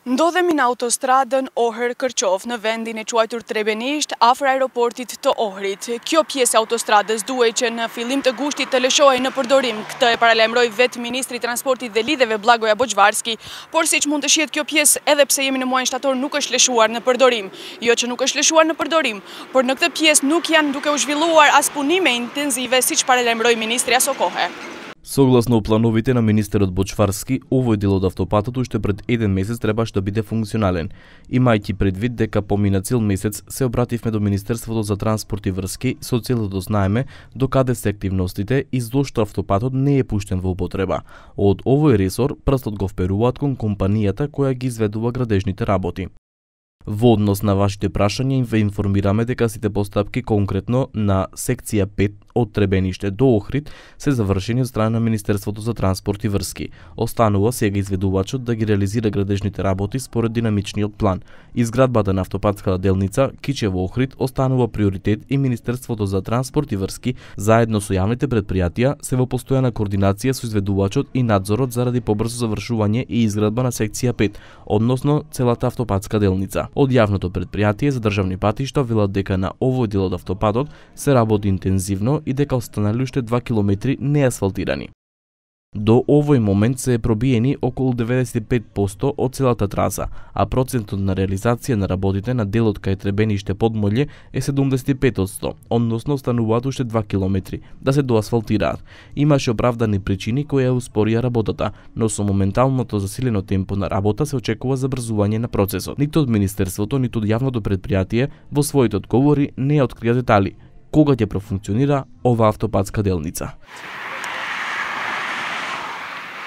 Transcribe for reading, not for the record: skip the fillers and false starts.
Ndodhemi në autostradën Ohër-Kërqov në vendin e quajtur Trebenisht afër aeroportit të Ohrit. Kjo pjesë e autostradës duhej që në fillim të gushtit të lëshohej në përdorim. Këtë e paralajmëroi vetë Ministri i Transportit dhe Lidhjeve Blagoja Boçvarski, por siç mund të shihet kjo pjesë edhe pse jemi në muajin shtator nuk është lëshuar në përdorim. Jo që nuk është lëshuar në përdorim, por në këtë pjesë nuk janë duke u zhvilluar as punime intenzive siç paralajmëroi ministri aso kohë. Согласно плановите на министерот Боçvarски, овој дел од автопатот уште пред еден месец требаш да биде функционален. Имајќи предвид дека помина цел месец, се обративме до Министерството за транспорт и врски со цел да знаеме докаде се активностите и зошто автопатот не е пуштен во употреба. Од овој ресор прстот го вперуваат кон компанијата која ги изведува градежните работи. Во однос на вашите прашања ве информираме дека сите постапки конкретно на секција 5 од Требениште до Охрид се завршени од страна на Министерството за транспорт и врски. Останува сега изведувачот да ги реализира градежните работи според динамичниот план. Изградбата на автопатската делница Кичево-Охрид останува приоритет и Министерството за транспорт и врски заедно со јавните претпријатија се во постојана координација со изведувачот и надзорот заради побрзо завршување и изградба на секција 5, односно целата автопатска делница. Од јавното претпријатие за државни патишта велат дека на овој дел од автопатот се работи интензивно и дека останали уште 2 километри неасфалтирани. До овој момент се пробиени околу 95% од целата траса, а процентот на реализација на работите на делот кај Требениште Подмолје е 75%, односно остануваат уште 2 километри да се доасфалтираат. Имаше оправдани причини кои ја успорија работата, но со моменталното засилено темпо на работа се очекува забрзување на процесот. Ниту од Министерството, ниту од јавното претпријатие во своите одговори не ја открија детали кога ќе профункционира ова автопатска делница.